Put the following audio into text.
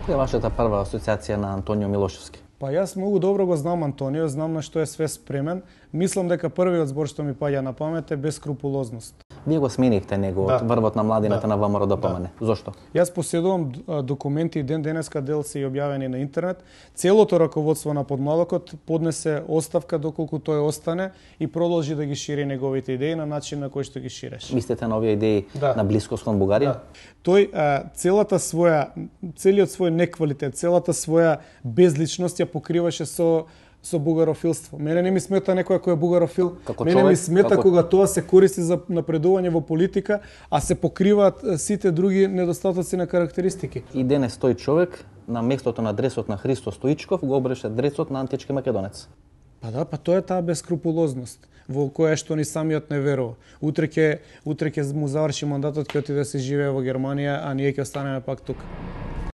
Која е вашата прва асоциација на Антонио Милошевски? Па јас многу добро го знам Антонио, знам на што е све спремен. Мислам дека првиот збор што ми паѓа на памет е бескрупулозност. Вие го сменихте него од врвот на младината на ВМРО ДПМН. Зошто? Јас поседувам документи и ден денеска дел се објавени на интернет. Целото раководство на Подмладокот поднесе оставка доколку тој остане и продолжи да ги шири неговите идеи на начин на кој што ги ширеше. Мислите на овие идеи на блискост кон Бугарија? Тој целиот свој неквалитет, целата своја безличност ја покриваше со бугарофилство. Мене не ми смета некој кој е бугарофил. Мене ми смета кога тоа се користи за напредување во политика, а се покриваат сите други недостатоци на карактеристики. И денес тој човек на местото на дресот на Христо Стоичков го обреше дресот на антички македонец. Па тоа е таа бескрупулозност во која што ни самиот не верува. Утре ќе му заврши мандатот, ќе отиде да се живее во Германија, а ние ќе останеме пак тука.